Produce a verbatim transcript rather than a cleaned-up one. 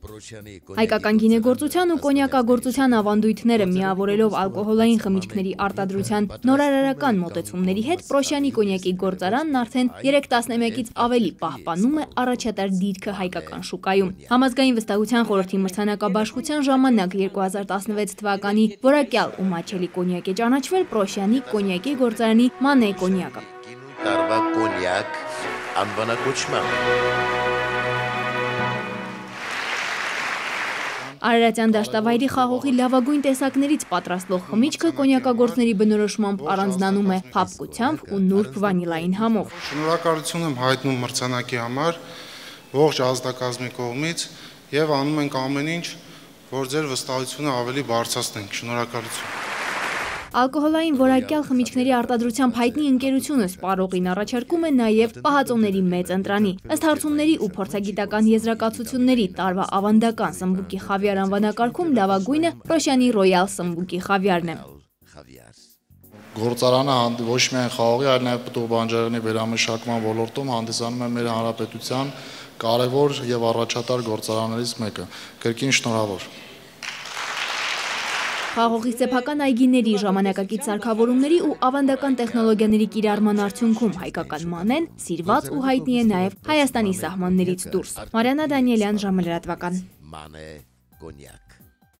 Հայկական գինեգործության ու կոնյակագործության ավանդույթները միավորելով ալկոհոլային խմիչքների արտադրության նորարարական մոտեցումների հետ Պրոշյանի կոնյակի գործարանն արդեն երեք տասնմեկից ավելի պահպանում է առաջատար դիրքը հայկական շուկայում։ Համազգային վստահության խորհրդի մրցանակաբաշխության ժամանակ երկու հազար տասնվեց թվականի որակյալ ու մատչելի կոնյակ է ճանաչվել Պրոշյանի կոնյակի գործարանի Մանե կոնյակը։ Տարվա կոնյակ անվանակոչմամբ։ Արարատյան դաշտավայրի խաղողի լավագույն տեսակներից պատրաստվող խմիչքը կոնյակագործների բնորոշմամբ առանձնանում է փափկությամբ ու նուրբ վանիլային համով։ Շնորհակալություն եմ հայտնում մրցանակի համար ողջ ազգակազմի կողմից եւ անում ենք ամեն ինչ, որ ձեր վստահությունը ավելի բարձրացնենք։ Շնորհակալություն։ Ալկոհոլային որակյալ խմիչքների արտադրությամբ հայտնի ընկերությունը սպառողին առաջարկում է նաև պահածոների մեծ ընտրանի։ Ըստ հարցումների ու փորձագիտական եզրակացությունների տարվա ավանդական սմբուկի խավիար անվանակարգում լավագույնը Պրոշյանի ռոյալ սմբուկի խավիարն է։ Գործարանը ոչ միայն խաղողի, այլ նաև պտուղ բանջարեղենի վերամշակման ոլորտում հանդիսանում է մեր հանրապետության կարևոր եւ առաջատար գործարաններից մեկը։ Կրկին շնորհավոր։ Խաղողի սեփական այգիների, ժամանակակից սարքավորումների ու ավանդական տեխնոլոգիաների կիրառման արդյունքում հայկական մանեն սիրված ու հայտնի է նաև Հայաստանի սահմաններից դուրս։ Մարիաննա Դանիելյան, ժամը լրատվական։ Մանե կոնյակ։